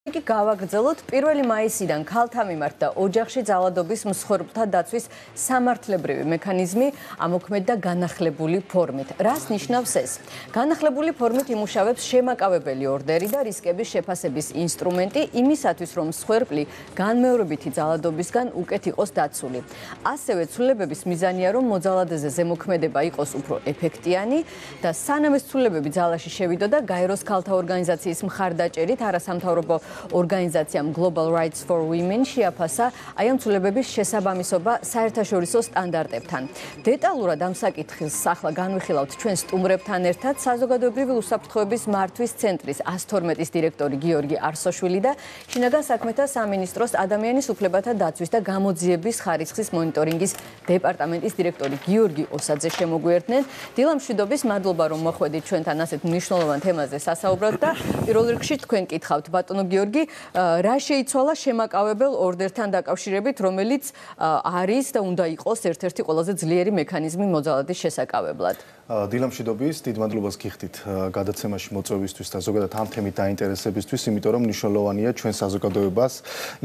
იგი გავაგრძელოთ 1 მაისიდან ქალთა მიმართ და ოჯახში ძალადობის მსხვერპლთა დაცვის სამართლებრივი მექანიზმი ამოქმედ და განახლებული ფორმით. რას ნიშნავს ეს? განახლებული ფორმით იმუშავებს შემაკავებელი ორდერი და რისკების შეფასების ინსტრუმენტი იმისათვის, რომ მსხვერპლი განმეორებითი ძალადობისგან უკეთ იყოს დაცული. ასევე ცვლილებების მიზანია, რომ მოძალადეზე ზემოქმედება იყოს უფრო ეფექტიანი და სანამ ეს ცვლილებები ძალაში შევიდოდა, გაეროს ქალთა ორგანიზაციის მხარდაჭერით არასამთავრობო ორგანიზაციამ Global Rights for Women შეაფასა აი ამ ცვლილებების შესაბამისობა საერთაშორისო სტანდარტებთან. დეტალურად ამ საკითხს ახლა განვიხილავთ ჩვენ სტუმრებთან ერთად საზოგადოებრივი უსაფრთხოების მართვის ცენტრის 112-ის დირექტორი გიორგი არსოშვილი და შინაგან საქმეთა სამინისტროს ადამიანის უფლებათა დაცვის და გამოძიების ხარისხის მონიტორინგის დეპარტამენტის დირექტორი გიორგი ოსაძე შემოგვიერთდნენ. დილამშვიდობის, მადლობა რომ მოხვედით ჩვენთან ასეთ მნიშვნელოვან თემაზე სასაუბრად და პირველ რიგში თქვენ კითხავთ ბატონო გიორგი, რა შეიცვალა შემაკავებელ ორდერთან დაკავშირებით, რომელიც არის და უნდა იყოს ერთ-ერთი ყველაზე ძლიერი მექანიზმი მოძალადის შესაკავებლად. დილამშვიდობის, დიდ მადლობას გიხდით გადაცემაში მოწვევისთვის და ზოგადად ამ თემით დაინტერესებისთვის, იმიტომ რომ მნიშვნელოვანია ჩვენ საზოგადოებას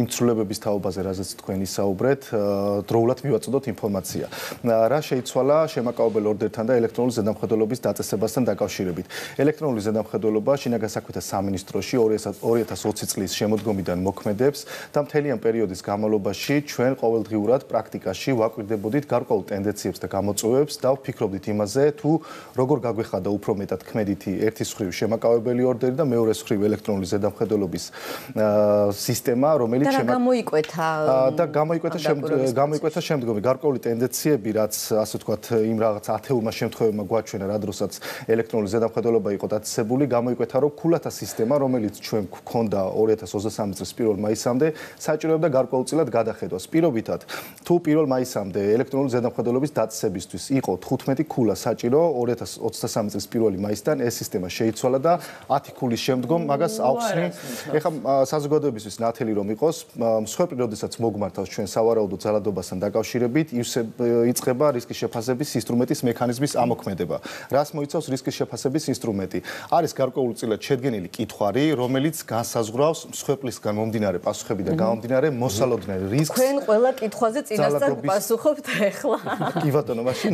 იმ ცვლილებების თაობაზე, რაზეც თქვენ ისაუბრეთ, დროულად მივაწოდოთ ინფორმაცია. რა შეიცვალა შემაკავებელ ორდერთან და ელექტრონული ზედამხედველობის დაწესებასთან დაკავშირებით. ელექტრონული ზედამხედველობა შინაგან საქმეთა სამინისტროში 2020 წლის შემოდგომიდან მოქმედებს და მთელი ამ პერიოდის განმავლობაში ჩვენ ყოველდღიურად პრაქტიკაში ვაკვირდებოდით გარკვეულ ტენდენციებს და გამოწვევებს და ვფიქრობდით იმაზე, თუ როგორ გაგვეხადა უფრო მეტად ქმედითი ერთის მხრივ შემაკავებელი ორდერი და მეორეს მხრივ ელექტრონული ზედამხედველობის სისტემა, რომელიც გამოიკვეთა შემდგომი გარკვეული ტენდენციები, რაც ასე ვთქვათ, იმ რაღაც ათეულმა შემთხვევებმა გვაჩვენა, რა დროსაც ელექტრონული ზედამხედველობა იყო დაწესებული, გამოიკვეთა, რომ ქულათა სისტემა, რომელიც ჩვენ გვქონდა 2023 წლის 1 მაისამდე, საჭიროებდა გარკვეულწილად გადახედვას. პირობითად, თუ 1 მაისამდე ელექტრონული ზედამხედველობის დაწესებისთვის იყო 15 ქულა საჭირო, 2023 წლის 1 მაისიდან ეს სისტემა შეიცვალა და 10 ქულის შემდგომ მაგას ავხსნი. ეხლა საზოგადოებისთვის ნათელი რომ იყოს, მსხვერპლი როდესაც მოგმართავს ჩვენ სავარაუდო ძალადობასთან დაკავშირებით, იწყება რისკის შეფასების ინსტრუმენტის მექანიზმის ამოქმედება. რას მოიცავს რისკის შეფასების ინსტრუმენტი? არის გარკვეულწილად შედგენილი კითხვარი, რომელიც განსაზღვრავს მსხვერპლისგან მომდინარე პასუხებიდან გამომდინარე მოსალოდნელ რისკს. თქვენ ყველა კითხვაზე წინასწარ პასუხობთ ახლა. კი ბატონო, მაშინ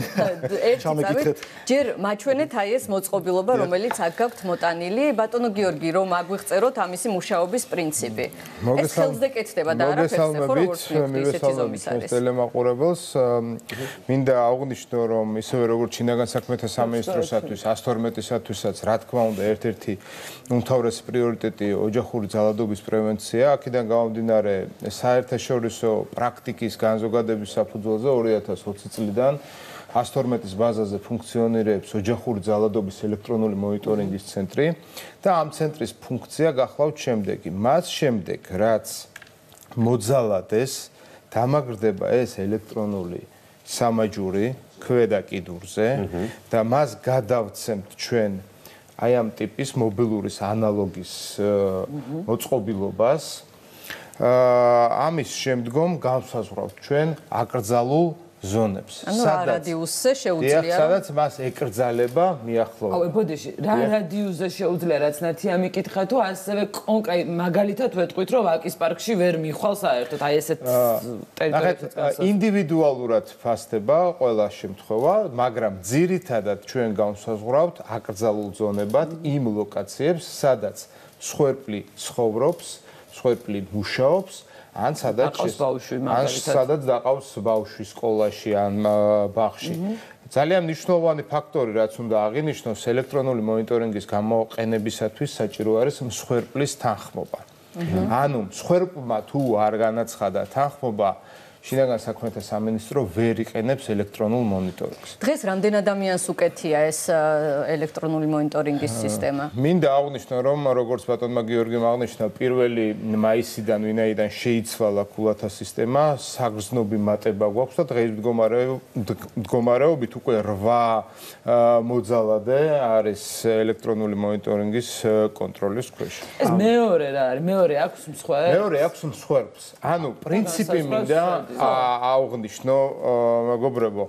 ჩამეკითხეთ. ჯერ მაჩვენეთ აი ეს მოწყობილობა, რომელიც აქ გაქვთ მოტანილი. ბატონო გიორგი, რომ აგვიღწეროთ ამისი მუშაობის პრინციპი. ეს ხელზე კეთდება და არაფერს ხო როგორც ისეთი ზომის არის. ტელემაყურებელს მინდა აღვნიშნო, რომ ისევე როგორც შინაგან საქმეთა სამინისტროსათვის 112-ისათვისაც რა თქმა უნდა ერთ-ერთი უმთავრესი პრიორიტეტი ოჯახური ძალადობის პრევენცია. აქედან გამომდინარე საერთაშორისო პრაქტიკის განზოგადების საფუძველზე 2020 წლიდან 112-ის ბაზაზე ფუნქციონირებს ოჯახური ძალადობის ელექტრონული მონიტორინგის ცენტრი და ამ ცენტრის ფუნქცია გახლავთ შემდეგი. მას შემდეგ, რაც მოძალადეს დამაგრდება ეს ელექტრონული სამაჯური ქვედა კიდურზე და მას გადავცემთ ჩვენ აი ამ ტიპის მობილურის ანალოგის მოწყობილობას. ამის შემდგომ განსაზღვრავთ ჩვენ აკრძალულ ზონებს. ანუ რა რადიუსზე შეუძლია? სადაც მას ეკრძალება მიახლოება. აუ, ბოდიში, რა რადიუსზე შეუძლია, რაც ნათია მიკითხა თუ ასევე კონკრეტ მაგალითად ვეტყვით, რომ ვაკის პარკში ვერ მიხვალ საერთოდ აი ესეთ ტერიტორიებსაც. ინდივიდუალურად ფასდება ყველა შემთხვევა, მაგრამ ძირითადად ჩვენ განსაზღვრავთ აკრძალულ ზონებად იმ ლოკაციებს, სადაც მსხვერპლი ცხოვრობს, მსხვერპლი მუშაობს, ან სადაც დაყავს ბავშვი სკოლაში ან ბაღში. ძალიან მნიშვნელოვანი ფაქტორი, რაც უნდა აღინიშნოს, ელექტრონული მონიტორინგის გამოყენებისათვის საჭირო არის მსხვერპლის თანხმობა. ანუ მსხვერპლმა თუ არ განაცხადა თანხმობა, შინაგან საქმეთა სამინისტრო ვერ იყენებს ელექტრონულ მონიტორინგს. დღეს რამდენ ადამიანს უკეთია ეს ელექტრონული მონიტორინგის სისტემა? მინდა აღვნიშნო, რომ როგორც ბატონმა გიორგიმ აღნიშნა, 1 მაისიდან ვინაიდან შეიცვალა ქულათა სისტემა, საგრძნობი მატება გვაქვს და დღეს მდგომარეობით უკვე 8 მოძალადე არის ელექტრონული მონიტორინგის კონტროლის ქვეშ. ეს მეორე რა არის? მეორე აქვს მსხვერპლს? მეორე აქვს მსხვერპლს. ანუ პრინციპი მინდა აღვნიშნო, მეგობრებო,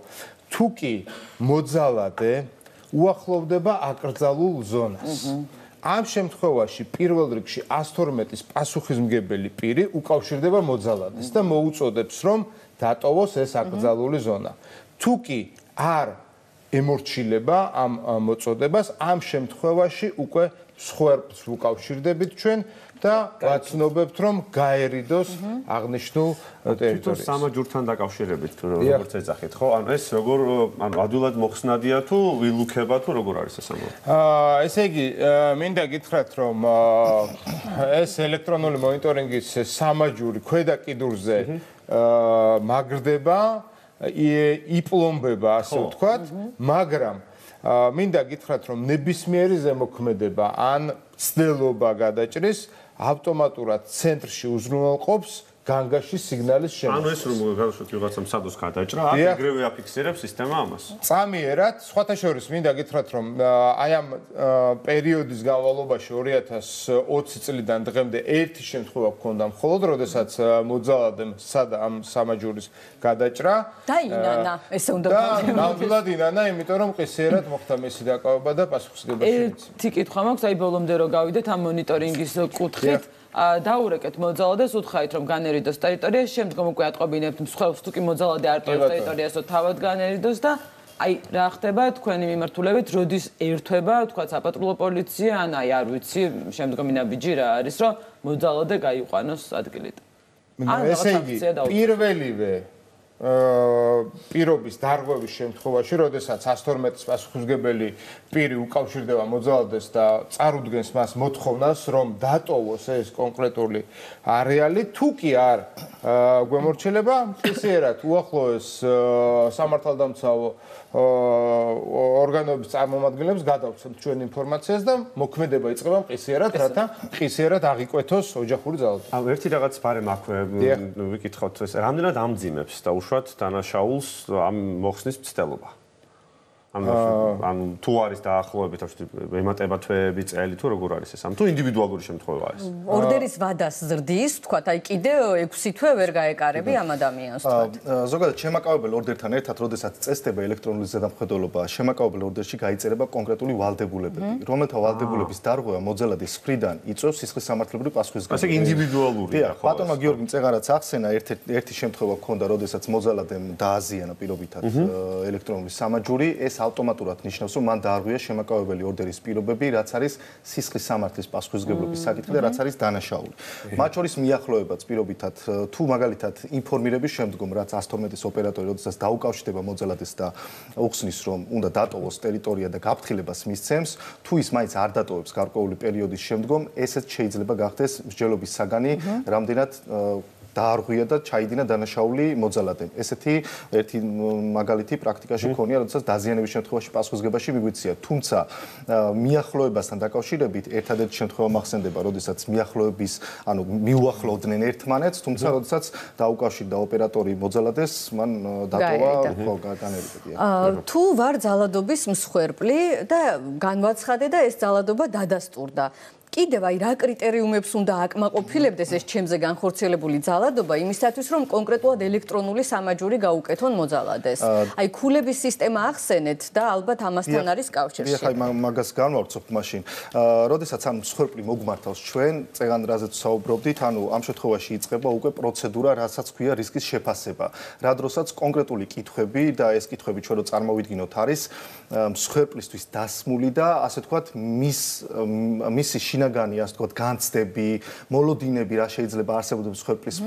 თუკი მოძალადე უახლოვდება აკრძალულ ზონას. ამ შემთხვევაში პირველ რიგში 112-ის პასუხისმგებელი პირი უკავშირდება მოძალადეს და მოუწოდებს, რომ დატოვოს ეს აკრძალული ზონა. თუ კი არ ემორჩილება ამ მოწოდებას, ამ შემთხვევაში უკვე სხვერპლს უკავშირდებით ჩვენ და ვაცნობებთ, რომ გაერიდოს აღნიშნულ ტერიტორიას. სამაჯურთან დაკავშირებით როგორც ეძახით, ხო? ანუ ეს როგორ ადვილად მოხსნადია თუ ვილუქება თუ როგორ არის ეს ამბავი? ესე იგი, მინდა გითხრათ, რომ ეს ელექტრონული მონიტორინგის სამაჯური ქვედა კიდურზე მაგრდება, იპლომბება, ასე ვთქვათ, მაგრამ მინდა გითხრათ, რომ ნებისმიერი ზემოქმედება ან ცდელობა გადაჭრის ავტომატურად ცენტრში უზრუნველყოფს განგაში სიგნალის შემოწმებას. ანუ ეს რომ გადაშოთ ვიღაცამ სადოს გადაჭრა, აქ ეგრევე აფიქსირებს სისტემა ამას. წამიერად, სხვათა შორის მინდა გითხრათ, რომ აი ამ პერიოდის განმავლობაში 2020 წლიდან დღემდე ერთი შემთხვევა გქონდა მხოლოდ, როდესაც მოძალადემ ამ სამაჯურის გადაჭრა და ინანა, ესე უნდა და ნამდვილად ინანა, იმიტომ რომ ყისიერად მოხდა მისი დაკავება და პასუხისმგებლობა. ერთი კითხვა მაქვს, აი ბოლომდე რო გავიდეთ ამ მონიტორინგის კუთხით. დაურეკეთ მოძალადეს, უთხრით რომ განერიდოს ტერიტორია, შემდგომ უკვე ატყობინებთ მსხვერპლს, თუ კი მოძალადე არ ტოვებს ტერიტორიასო თავად განერიდოს და აი რა ხდება თქვენი მიმართულებით, როდის ერთვება, თქვა საპატრულო პოლიცია, ან აი არ ვიცი, შემდგომი ნაბიჯი რა არის, რომ მოძალადე გაიყვანოს ადგილით. ესე იგი, პირველივე პირობის დარღვევის შემთხვევაში, როდესაც 112-ის პასუხისმგებელი პირი უკავშირდება მოძალადეს და წარუდგენს მას მოთხოვნას, რომ დატოვოს ეს კონკრეტული არეალი, თუ კი არ გვემორჩილება, ხისიერად უახლოეს სამართალდამცავ ორგანოების წარმომადგენლებს გადავცემთ ჩვენ ინფორმაციას და მოქმედება იწყება მყისიერად, რათა მყისიერად აღიკვეთოს ოჯახური ძალადობა. ანუ ერთი რაღაც ბარემ აქვე ვიკითხავთ ეს რამდენად ამძიმებს და უშუალოდ დანაშაულს ამ მოხსნის მცდელობა. ანუ თუ არის დაახლოებით ემატება თვეები, წელი თუ როგორ არის ეს? თუ ინდივიდუალური შემთხვევა ეს? ორდერის ვადას ზრდის, თქვათ, აი კიდე 6 თვე ვერ გაეკარები ამ ადამიანს, თქვათ. ზოგადად შემაკავებელ ორდერთან ერთად, როდესაც წესდება ელექტრონული ზედამხედველობა, შემაკავებელ ორდერში გაიწერება კონკრეტული ვალდებულებები, რომელთა ვალდებულების დარღვევა მოძალადის მხრიდან იწვევს სისხლის სამართლებრივ პასუხისმგებლობას. ასე ინდივიდუალურია, ხო? ბატონმა გიორგიმ წეღარაც ახსენა, ერთი შემთხვევა ჰქონდა, როდესაც მოძალადემ დააზიანა პირობითად ელექტრონული სამაჯური, ეს ავტომატურად ნიშნავს, რომ მან დაარღვია შემაკავებელი ორდერის პირობები, რაც არის სისხლის სამართლის პასუხისმგებლობის საკითხი და რაც არის დანაშაული. მათ შორის მიახლოებაც პირობითად თუ მაგალითად ინფორმირების შემდგომ, რაც 112-ის ოპერატორი, როდესაც დაუკავშირდება მოძალადეს და უხსნის, რომ უნდა დატოვოს ტერიტორია და გაფრთხილებას მისცემს, თუ ის მაინც არ დატოვებს გარკვეული პერიოდის შემდგომ, ესეც შეიძლება გახდეს მსჯელობის საგანი, რამდენად დაარღვია და ჩაიდინა დანაშაული მოძალადემ. ესეთი ერთი მაგალითი პრაქტიკაში ქონია, როდესაც დაზიანების შემთხვევაში პასუხისმგებაში მიგვიწია. თუმცა მიახლოებასთან დაკავშირებით ერთადერთი შემთხვევა მახსენდება, როდესაც მიახლოების, ანუ მიუახლოვდნენ ერთმანეთს, თუმცა როდესაც დაუკავშირდა ოპერატორი მოძალადეს, მან დატოვა ხო განერიდა. თუ ვარ ძალადობის მსხვერპლი და განვაცხადე და ეს ძალადობა დადასტურდა. კიდევ აი რა კრიტერიუმებს უნდა აკმაყოფილებდეს ეს ჩემზე განხორციელებული ძალადობა იმისათვის რომ კონკრეტულად ელექტრონული სამაჯური გაუკეთონ მოძალადეს. აი ქულების სისტემა ახსენეთ და ალბათ ამასთან არის კავშირში. ხაი მაგას განვავრცობთ მაშინ. როდესაც ამ მსხვერპლი მოგმართავს ჩვენ, წეგან რაზეც საუბრობდით, ანუ ამ შემთხვევაში იწყება უკვე პროცედურა, რასაც ქვია რისკის შეფასება. რა დროსაც კონკრეტული კითხვები და ეს კითხვები ჩვენ რო წარმოვიდგინოთ არის მსხვერპლისთვის დასმული და ასე ვთქვათ მისი შინაგანი, ასე ვთქვათ, განცდები, მოლოდინები, რა შეიძლება არსებობდეს მსხვერპლის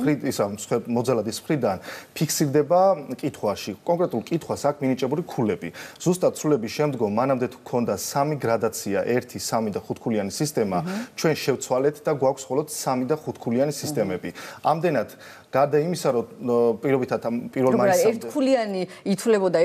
მოძალადის მხრიდან, ფიქსირდება კითხვაში. კონკრეტულ კითხვას აქვს მინიჭებული ქულები. ზუსტად სრულების შემდგომ მანამდე თუ გქონდა 3 გრადაცია, 1, 3 და 5 ქულიანი სისტემა, ჩვენ შევცვალეთ და გვაქვს მხოლოდ 3 და 5 ქულიანი სისტემები. ამდენად გარდა იმისა, რომ პირობითად ამ პირველ მაისამდე ერთქულიანი ითვლებოდა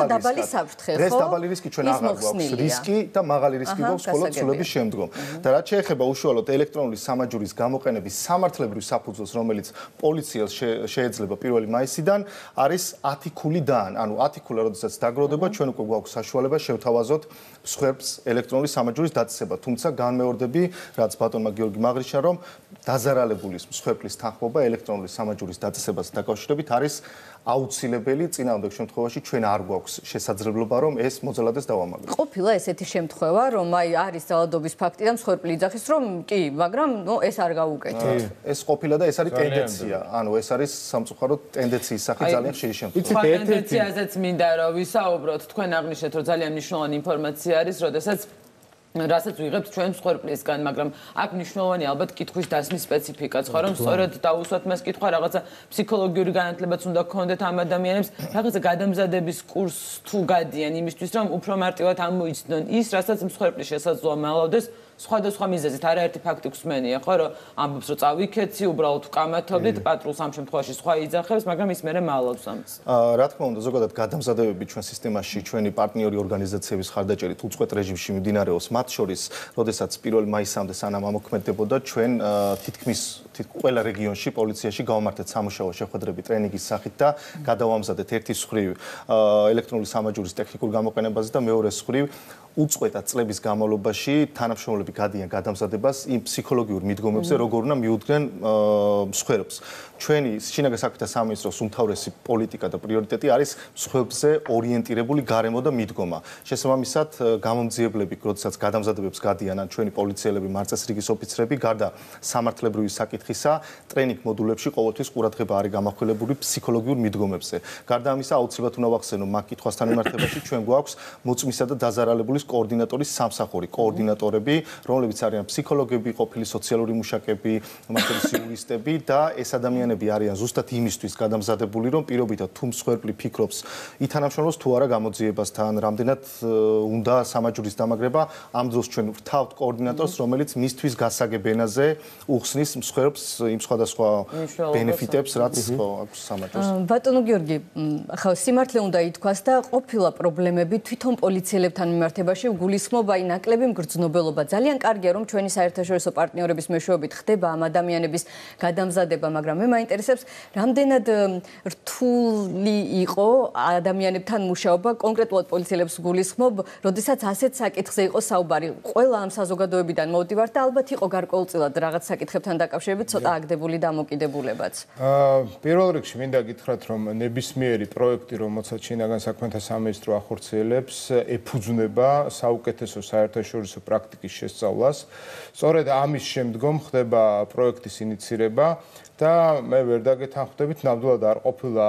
დაბალი საფრთხე, ხო? დღეს დაბალი რისკი ჩვენ აღარ გვაქვს რისკი და მაღალი რისკი გვაქვს მხოლოდ სრულების შემდგომ. და რაც შეეხება უშუალოდ ელექტრონული სამაჯურის გამოყენების სამართლებრივ საფუძველს, რომელიც პოლიციას შეეძლება 1 მაისიდან, არის 10 ქულიდან. ანუ 10 ქულა, როდესაც დაგროვდება, ჩვენ უკვე გვაქვს საშუალება შევთავაზოთ მსხვერპლს ელექტრონული სამაჯურის დაწესება. თუმცა განმეორდები, რაც ბატონმა გიორგი მაღრიშა, რომ დაზარალებული მსხვერპლის თანხმობა ელექტრონული სამაჯურის დაწესებას დაკავშირებით არის აუცილებელი წინააღმდეგ შემთხვევაში ჩვენ არ გვაქვს შესაძლებლობა რომ ეს მოძალადეს დავამაგროთ. ყოფილა ესეთი შემთხვევა რომ აი არის ძალადობის ფაქტი და მსხვერპლი იძახის რომ კი, მაგრამ ეს არ გაუკეთეთ. ეს ყოფილა და ეს არის ტენდენცია. ანუ ეს არის სამწუხაროდ ტენდენციის სახით ძალიან ხშირი შემთხვევა. ტენდენციაზეც მინდა რომ ვისაუბროთ, თქვენ აღნიშნეთ რომ ძალიან მნიშვნელოვანი ინფორმაცია არის, როდესაც რასაც ვიღებთ ჩვენ მსხვერპლისგან, მაგრამ აქ მნიშვნელოვანი ალბათ კითხვის დასმის სპეციფიკაც ხო, რომ სწორედ დაუსვათ მას კითხვა, რაღაცა ფსიქოლოგიური განათლებაც უნდა გქონდეთ ამ ადამიანებს, რაღაცა გადამზადების კურსს თუ გადიან იმისთვის, რომ უფრო მარტივად ამოიცნონ ის, რასაც მსხვერპლი შესაძლოა მალავდეს სხვადასხვა მიზეზით, არაერთი ფაქტი გვსმენია, ხო, რომ ამბობს, რომ წავიქეცი, უბრალოდ ვკამათობდით, პატრულს ამ შემთხვევაში სხვა იძახებს, მაგრამ ის მერე მალავს ამას. რა თქმა უნდა, ზოგადად გადამზადებები ჩვენ სისტემაში, ჩვენი პარტნიორი ორგანიზაციების ხარდაჭერით უწყვეტ რეჟიმში მიმდინარეობს, მათ შორის, როდესაც 1 მაისამდე სანამ ამოქმედებოდა, ჩვენ თითქმის ყველა რეგიონში პოლიციაში გავამართეთ სამუშაო შეხვედრები ტრენინგის სახით და გადავამზადეთ ერთი მხრივ ელექტრონული სამაჯურის ტექნიკურ გამოყენებაზე და მეორე მხრივ უწყვეტად წლების განმავლობაში თანამშრომლები გადიან გადამზადებას იმ ფსიქოლოგიურ მიდგომებზე, როგორ უნდა მიუდგნენ მსხვერპლს. ჩვენი შინაგან საქმეთა სამინისტროს უმთავრესი პოლიტიკა და პრიორიტეტი არის მსხვერპლზე ორიენტირებული გარემო და მიდგომა. შესაბამისად, გამომძიებლები, როდესაც გადამზადებებს გადიან ჩვენი პოლიციელები, მარწესრიგის ოფიცრები, გარდა სამართლებრივი საკითხისა, ტრენინგ მოდულებში ყოველთვის ყურადღება არის გამახვილებული ფსიქოლოგიურ მიდგომებზე. გარდა ამისა, აუცილებლად უნდა ვახსენო, მაგ კითხვასთან მიმართებაში ჩვენ გვაქვს მოწმისა და დაზარალებულის კოორდინატორის სამსახური, კოორდინატორები, რომლებიც არიან ფსიქოლოგები, ყოფილი სოციალური მუშაკები, მასწავლებლის იურისტები და ეს ადამიანები არიან ზუსტად იმისთვის გადამზადებული, რომ პირობითად თუ მსხვერპლი ფიქრობს ითანამშრომლოს თუ არა გამოძიებასთან, რამდენად უნდა სამაჯურის დამაგრება, ამ დროს ჩვენ ვთავთ კოორდინატორს, რომელიც მისთვის გასაგებ ენაზე უხსნის მსხვერპლს იმ სხვადასხვა ბენეფიტებს, რაც აქვს სამაჯურს. ბატონო გიორგი, ახლა სიმართლე უნდა ითქვას და ყოფილა პრობლემები თვითონ პოლიციელებთან მიმართებაში გულისხმობა აი ნაკლები მგრძნობელობა. ძალიან კარგია რომ ჩვენი საერთაშორისო პარტნიორების მეშვეობით ხდება ამ ადამიანების გადამზადება, მაგრამ მე მაინტერესებს რამდენად რთული იყო ადამიანებთან მუშაობა, კონკრეტულად პოლიციელებს გულისხმობ, როდესაც ასეთ საკითხზე იყო საუბარი. ყველა ამ საზოგადოებიდან მოვდივართ და ალბათ იყო გარკვეულწილად რაღაც საკითხებთან დაკავშირებით ცოტა აგდებული დამოკიდებულებაც. პირველ რიგში მინდა გითხრათ, რომ ნებისმიერი პროექტი, რომელსაც შინაგან საქმეთა სამინისტრო ახორციელებს, ეფუძნება საუკეთესო საერთაშორისო პრაქტიკის შესწავლას. სწორედ ამის შემდგომ ხდება პროექტის ინიცირება და მე ვერ დაგეთანხმდებით, ნამდვილად არ ყოფილა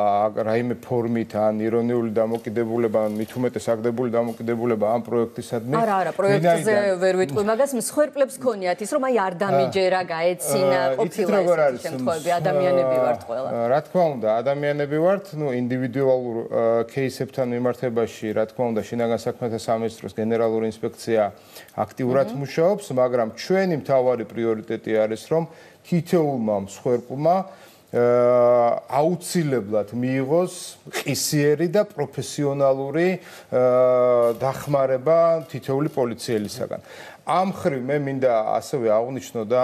რაიმე ფორმით ან ირონიული დამოკიდებულება, ან მით უმეტეს აგდებული დამოკიდებულება ამ პროექტისადმი. არა, პროექტზე ვერ ვიტყვი, მაგას მსხვერპლებს ქონიათ ის, რომ აი არ დამიჯერა, გაეცინა, ყოფილა ეს შემთხვევები, ადამიანები ვართ ყველა. რა თქმა უნდა, ადამიანები ვართ, ინდივიდუალურ кейსებთან მიმართებაში, რა თქმა უნდა, შინაგან საქმეთა სამინისტროს გენერალური ინსპექცია აქტიურად მუშაობს, მაგრამ ჩვენი მთავარი პრიორიტეტი არის, რომ თითოეულმა მსხვერპლმა აუცილებლად მიიღოს ყისიერი და პროფესიონალური დახმარება თითოეული პოლიციელისაგან. ამ ხრივ მე მინდა ასევე აღვნიშნო და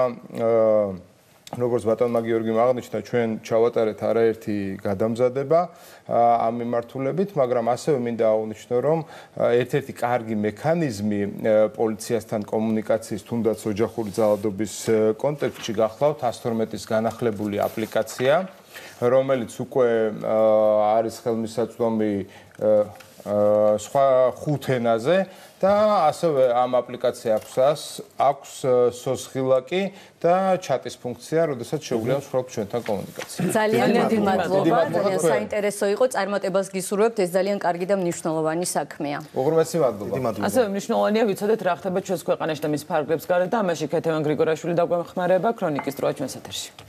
როგორც ბატონმა გიორგიმ აღნიშნა, ჩვენ ჩავატარეთ არაერთი გადამზადება ამ მიმართულებით, მაგრამ ასევე მინდა აღვნიშნო, რომ ერთ-ერთი კარგი მექანიზმი პოლიციასთან კომუნიკაციის, თუნდაც ოჯახური ძალადობის კონტექსტში გახლავთ 112-ის განახლებული აპლიკაცია, რომელიც უკვე არის ხელმისაწვდომი სხვა 5 ენაზე და ასევე ამ აპლიკაციას აქვს სოცხილაკი და ჩატის ფუნქცია, როდესაც შეუძლია მსხვერპლს ჩვენთან კომუნიკაცია. ძალიან დიდი მადლობა, ძალიან საინტერესო იყო, წარმატებას გისურვებთ, ეს ძალიან კარგი და მნიშვნელოვანი საქმეა. უღრმესი მადლობა. ასევე მნიშვნელოვანია ვიცოდეთ რა ხდება ჩვენს ქვეყანაში და მის ფარგლებს გარეთ და ამაში ქეთევან გრიგორაშვილი დაგვეხმარება, ქრონიკის დროა ჩვენს ეთერში.